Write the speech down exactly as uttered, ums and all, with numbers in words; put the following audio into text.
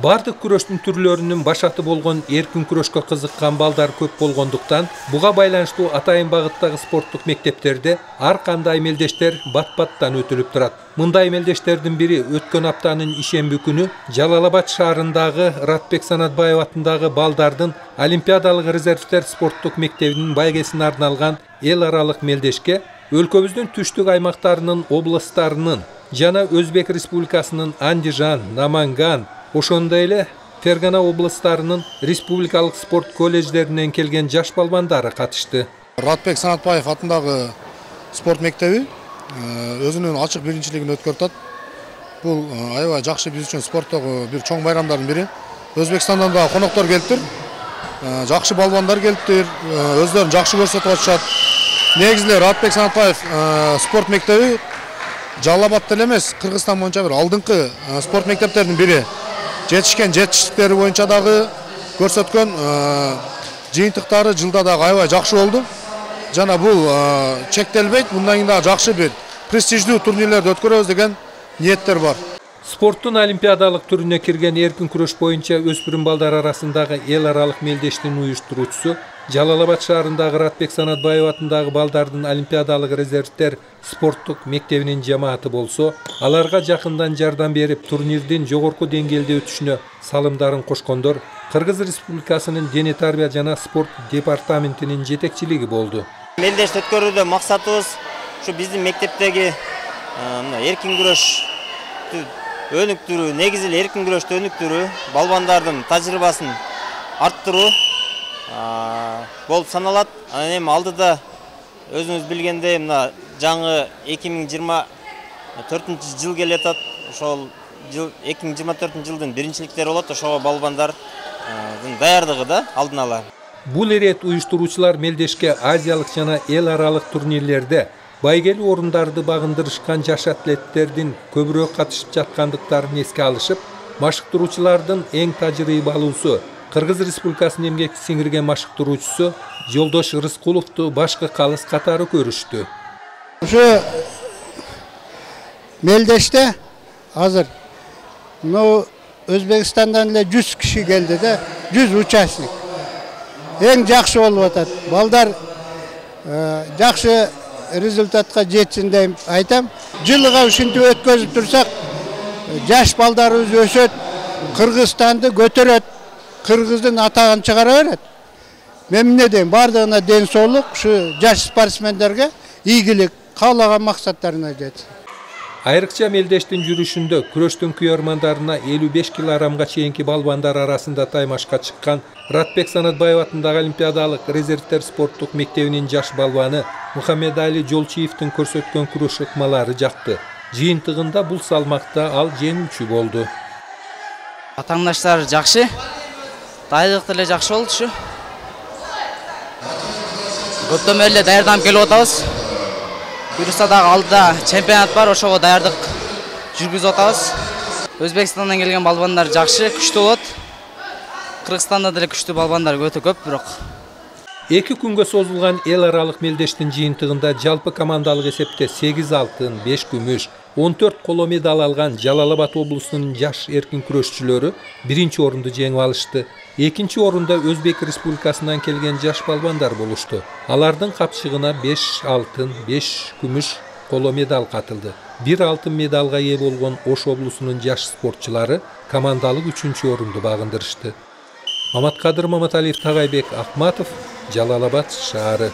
Бардык күрөштүн түрлөрүнүн башаты болгон эркин күрөшкө кызыккан балдар көп болгондуктан, буга байланыштуу атайын багыттагы спорттук мектептерде ар кандай мелдештер бат-баттан өтүлүп турат. Мындай мелдештердин бири өткөн аптанын ишемби күнү Жалал Абад шаарындагы Ратбек Санатбаев атындагы балдардын Олимпиадалык резервдер спорттук мектебинин байгесине арналган эл аралык мелдешке өлкөбүздүн түштүк аймактарынын областтарынын жана Өзбек Республикасынын Андижан, Наманган, ошондой эле Фергана областарынын республикалык спорт колледждеринен келген жаш балбандары катышты. Ратбек Санатбаев атындагы спорт мектеби өзүнүн ачык биринчилигин өткөртөт. Бул аябай жакшы биз үчүн спорттогу бир чоң байрамдардын бири. Өзбекстандан да коноктор келиптир. Жакшы балбандар келиптир, өздөрүн жакшы көрсөтүп атышат. Негизи Ратбек Санатбаев спорт мектеби Жалал Абадта эле эмес, Кыргызстан боюнча бир алдыңкы спорт мектептердин бири. Жетишкен жетиштиктери боюнча дагы көрсөткөн жыйынтыктары жылда дагы аябай жакшы болду. Жана бул чектелбейт, мындан кийин дагы жакшы бир престиждүү турнирлерди өткөрөбүз деген ниеттер бар. Спорттун олимпиадалык түрүнө кирген эркин күрөш боюнча өспүрүм балдар арасындагы эл аралык мелдештин уюштуруучусу Жалал Абад шаарындагы Ратбек Санатбаев атындагы балдардын олимпиадалык резервдер спорттук мектебинин жамааты болсо, аларга жакындан жардам берип, турнирдин жогорку деңгээлде өтүшүнө салымдарын кошкондор Кыргыз Республикасынын дене тарбия жана спорт департаментинин жетекчилиги болду. Мелдешти өткөрүүдө максатыбыз ушу биздин мектептеги эркин күрөш өнүктүрүү, негизи эле эркин күрөштү өнүктүрүү, балбандардын тажрыйбасын арттыруу болуп саналат. Анан эми алдыда өзүңүз билгендей мына жаңы эки миң жыйырма төртүнчү жыл келатат. Ошол жыл эки миң жыйырма төртүнчү жылдын биринчиликтери болот. Ошого балбандардын даярдыгы да алдын ала. Бул ирет уюштуруучулар мелдешке азиялык жана эл аралык турнирлерде байгелүү орундарды багындырышкан жаш атлеттердин көбүрөөк катышып жаткандыктарын эске алышып, машыктыруучулардын эң тажрыйбалуусу Кыргыз Республикасынын эмгек сиңирген машыктыруучусу Жолдош Рыскуловду башкы калыс катары көрүштү. Ушу мелдеште азыр ну Өзбекстандан эле жүз киши келди да, жүз участник. Эң жакшы болуп атат. Балдар жакшы результатка жетсин деп айтам. Жылга ушинтип өткөзүп турсак, жаш балдарыбыз өсөт, Кыргызстанды көтөрөт, Кыргыздын атагын чыгара берет. Мен эмне дейм, бардыгына ден соолук, ушу жаш спортсмендерге ийгилик, каалаган максаттарына жетсин. Айрыкча мелдештин жүрүшүндө күрөштүн күйөрмандарына элүү беш килограммга чейинки балбандар арасында таймашка чыккан Ратбек Санатбаев атындагы Олимпиадалык резервдер спорттук мектебинин жаш балбаны Мухаммедали Жолчиевдин көрсөткөн күрөш ыкмалары жакты. Жыйынтыгында бул салмакта ал жеңүүчү болду. Атаңдаштар жакшы, дайыдык деле жакшы болду ушу. Көптөн бери эле даярданып келип атабыз. Буюрса дагы алдыда чемпионат бар, ошого даярдык жүргүзүп атабыз. Өзбекстандан келген балбандар жакшы, күчтүү болот. Кыргызстанда деле күчтүү балбандар өтө көп, бирок эки күнгө созулган эл аралык мелдештин жыйынтыгында жалпы командалык эсепте сегиз алтын, беш күмүш, он төрт коло медаль алган Жалал Абад облусунун жаш эркин күрөшчүлөрү биринчи орунду жеңип алышты. Экинчи орунда Өзбек Республикасынан келген жаш балбандар болушту. Алардын капчыгына беш алтын, беш күмүш коло медаль катылды. бир алтын медалга ээ болгон Ош облусунун жаш спортчулары командалык үчүнчү орунду багындырышты. Маматкадыр Маматалиев, Тагайбек Акматов, Жалал Абад шаары.